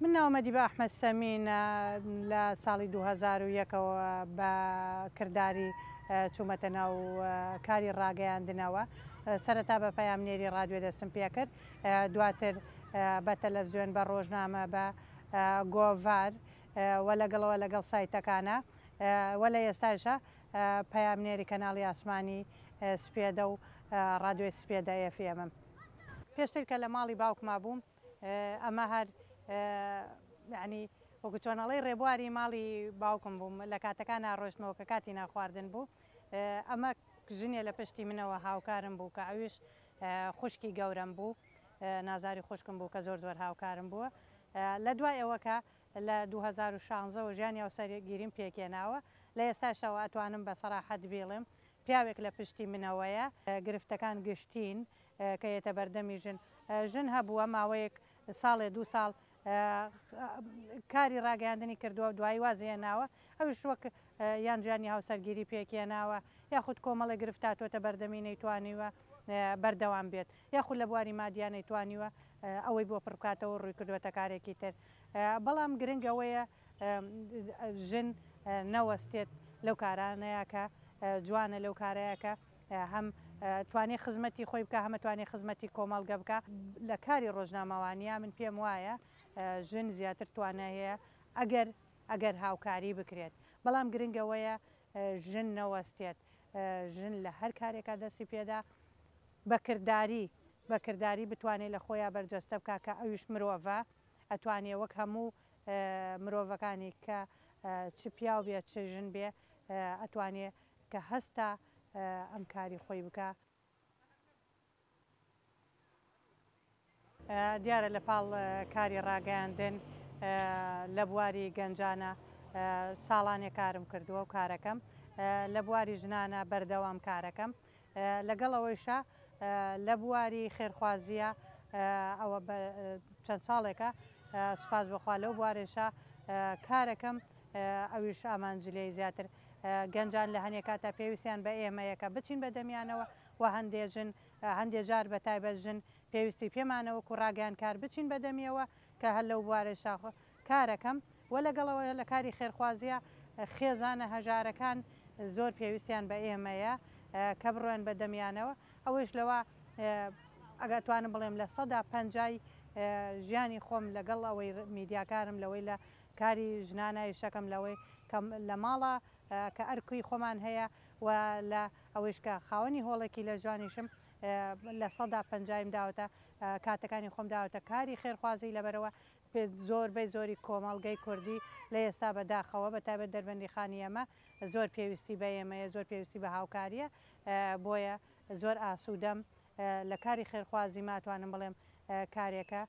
من ناوم ئەدیبە ئەحمەد سەمینە، لە ساڵی 2001 ەوە بە کرداری چوومەتە ناو کاری ڕاگەیاندنەوە. سەرەتا بە پەیامنێری ڕادیۆ دەستم پێکرد، دواتر بە تەلەفزیۆن، بە ڕۆژنامە، بە گۆڤار و لەگەڵەوە لەگەڵ سایتەکانە و لە ئێستاشا پەیامنێری کەناڵی ئاسمانی سپێدە و ڕادیۆی سپێدە ئێف ئێمم. پێشتر کە لە ماڵی باوکما بووم ئەمە هەر یانی وەکو چۆن ئەڵێی ڕێبواری ماڵی باوکم بووم لە کاتەکانا ڕۆشتمەوە کە کاتی نانخواردن بوو ئەمە ژنێ لە پشتی منەوە هاوکارم بوو کە ئەویش خوشکی گەورەم بوو نازاری خوشکم بوو کە زۆر زۆر هاوکارم بووە لە دوای ئەوە کە لە 2016 وە ژیانی هاوسەرگیریم پێکهێناوە لە ئێستاشەوە ئەتوانم بە سەراحەت بیڵێم پیاوێک لە پشتی منەوەیە گرفتەکان گشتین کە یەتە بەردەمی ژن ژن هەبووە ماوەیەک ساڵێ دوو ساڵ کاری ڕاگەیاندنی کردووە دوایی وازی هێناوە ئەویش وەک یان ژیانی هاوسەرگیری پێکهێناوە یاخود کۆمەڵێک گرفت هاتووەتە بەردەمی نەیتوانیوە بەردەوام بێت یاخود لە بواری مادیا نەیتوانیوە ئەوەی بۆ پڕ بکاتەوە ڕووی کردووەتە کارێکی تر بەڵام گرنگ ئەوەیە ژن نەوەستێت لەو کارانەیە کە جوانە لەو کارەیە کە هەم توانێ خزمەتی خۆی بکا هەم ئەتوانێ خزمەتی کۆمەڵگە بکا. لە کاری ڕۆژنامەوانیا من پێم وایە ژن زیاتر توانای هەیە ئەگەر ئەگەر هاوکاری بکرێت بەڵام گرنگ ئەوەیە ژن نەوەستێت ژن لە هەر کارێکا دەستی پێدا بە کرداری بە کرداری بتوانێ لە خۆیا بەرجەستە بکا کە ئەویش مرۆڤە ئەتوانێ وەک هەموو مرۆڤەکانی کە چ پیاو بێ چ ژن بێ ئەتوانێ کە هەستا ئەم کاری خۆی بکا. دیارە لە پاڵ کاری ڕاگەیاندن لە بواری گەنجانە ساڵانێ کارم کردووە و کارەکەم لە بواری ژنانە بەردەوام کارەکەم لەگەڵ ئەوەیشا لە بواری خێرخوازییە ئەوە چەند ساڵێکە سوپاس بۆخوا لەو بوارەیشا کارەکەم ئەویش ئامانج لێی زیاتر گەنجان لە هەنێ کاتا پێویستیان بە ئێمەیە کە بچین بە دەمیانەوە و هەندێ ژن هەندێ جار بە تایبەت ژن پێویستی پێمانە وەکو ڕاگەیاندکار بچین بە دەمیەوە کە هەر لەو بوارەشا کارەکەم و لەگەڵ ئەوە لە کاری خێرخوازیە خێزانە هەژارەکان زۆر پێویستیان بە ئێمەیە کە بڕۆین بە دەمیانەوە ئەوەیش لەوە ئەگەر توانم بڵێم 50% ژیانی خۆم لەگەڵ ئەوەی میدیاکارم لەوەی لە کاری ژنانە ئیشەکەم لەوەی کە لە ماڵە کە ئەرکی خۆمان هەیە و لە ئەوەیش کە خاوەنی هۆڵێکی لە ژوانیشم 50%یم داوەتە کاتەکانی خۆم داوەتە کاری خێرخوازی لەبەرەوە زۆربەی زۆری کۆمەڵگەی کوردی لە ئێستا بە داخەوە بە تایبەت دەربەندیخانی ئێمە زۆر پێویستی بە ئێمەیە زۆر پێویستی بە هاوکاریە بۆیە زۆر ئاسوودەم لە کاری خێرخوازی ماتوانم بڵێم کارێکە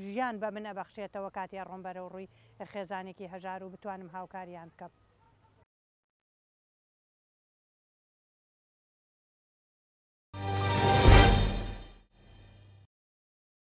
ژیان بە من ئەبەخشێتەوە کاتێ ئەڕۆم بەرەو ڕووی خێزانێکی هەژار و بتوانم هاوکاریان بکەم.